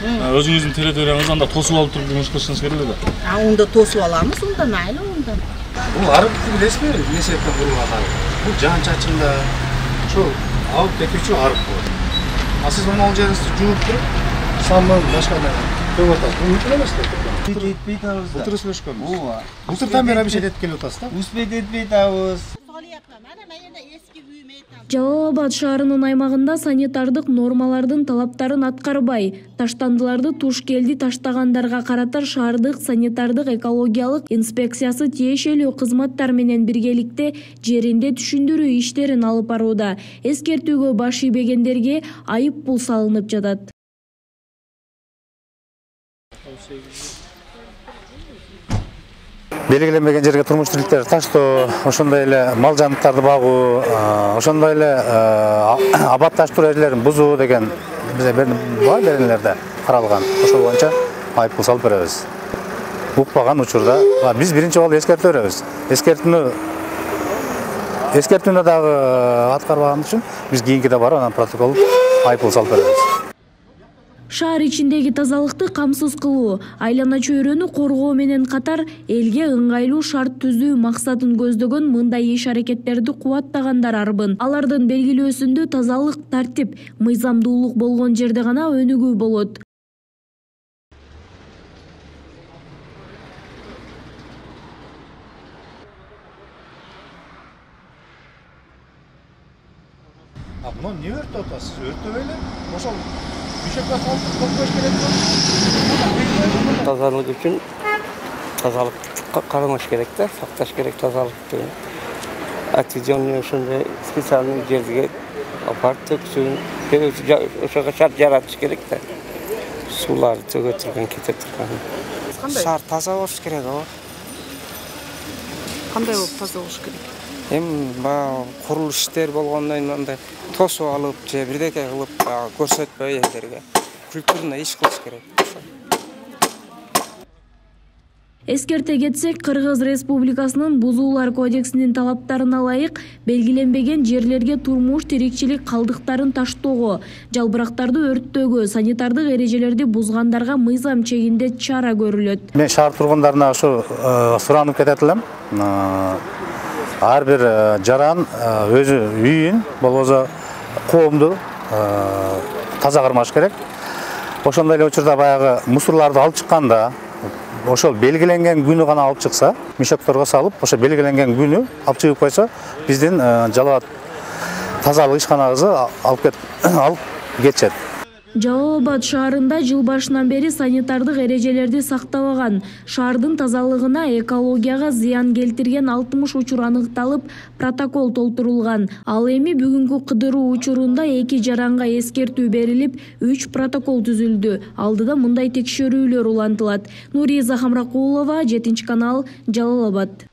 өзүңүздүн территорияңызды анда тосуп алып туруп жумуш кылышыңыз керек эле да. Унда тосуп аламыз, унда майли унда. Бул арык билесизби? Эмне себептен курулган арык? Бул жан чачында ошо алып кетүүчү арык болот. Сиз мына ал жеринизди жууп туруп, самын башка төгүп атасыз. Мүмкүн эмес да. Этпей атабыз да. Былтыр сүйлөшкөнбүз. Ооба. Былтырдан бери абишет этип келип атасыз да? Успет этпей атабыз. Жалал Абад шаарынын аймагында санитардык нормалардын талаптарын аткарбай, таштандыларды туш келди таштагандарга карата шаардык санитардык экологиялык инспекциясы тиешелүү кызматтар менен биргеликте жеринде түшүндүрүү иштерин алып барууда. Эскертүүгө баш ийбегендерге айып пул салынып жатат. Белгиленбеген жерге турмуш тирктерди таштоо, ошондой эле мал жаныбарларды багуу, ошондой эле абатташтыруу эрежелерин бузуу деген бизде бар беренелерде каралган. Ошол боюнча айып пул салып беребиз. Укпаган учурда биз биринчи жолу эскертип беребиз. Эскертүүнү дагы аткарбаган үчүн биз кийинкиде барып анан протокол айып пул салып беребиз. Шаар ичиндеги тазалыкты камсыз кылуу, айлана чөйрөнү коргоо менен катар элге ыңгайлуу шарт түзүү максатын көздөгөн мындай иш-аракеттерди кубаттагандар арбын. Алардын белгилөөсүндө тазалык, тартип, мыйзамдуулук болгон жерде гана өнүгүү болот. Мына эмне өртөп атасыз? Өртөбөй эле. Ошол Düşekle saltıp topluş gerek yok. Тазалык үчүн тазалыкка карамаш керек да, сакташ керек тазалыкты. Отведенный ошондой специальный жерге апарып төксүн, ошого шарт жаратыш керек да. Сууларды төгө турган, кете турган. Шаар таза болуш керек о. Кандай болуп таза болуш керек? Баягы курулуш иштер болгондон кийин андай тосуп алып же бирдеке кылып көрсөтпөй элдерге культурно иш кылыш керек. Эскерте кетсек, Кыргыз Республикасынын Бузуулар кодексинин талаптарына ылайык белгиленбеген жерлерге турмуш тирикчилик калдыктарын таштоого, жалбырактарды өрттөөгө, санитардык эрежелерди бузгандарга мыйзам чегинде чара көрүлөт. Мен шаар тургундарына ушу суранып кетет элем. Ар бир жаран өзү үйүн, болбосо коомду таза кармаш керек. Ошондой эле учурда баягы мусорларды алып чыкканда, ошол белгиленген күнү гана алып чыкса, мешокторго салып, ошо белгиленген күнү алып чыгып койсо, биздин Жалал Абад тазалык ишканабызы алып кетишет. Жалал Абад шаарында жыл башынан бери санитардык эрежелерди сактабаган, шаардын тазалыгына, экологияга зыян келтирген 60 учур аныкталып, протокол толтурулган. Ал эми бүгүнкү кыдыруу учурунда 2 жаранга эскертүү берилип, 3 протокол түзүлдү. Алдыда мындай текшерүүлөр улантылат. Нуриза Хамракулова, 7 канал, Жалал Абад.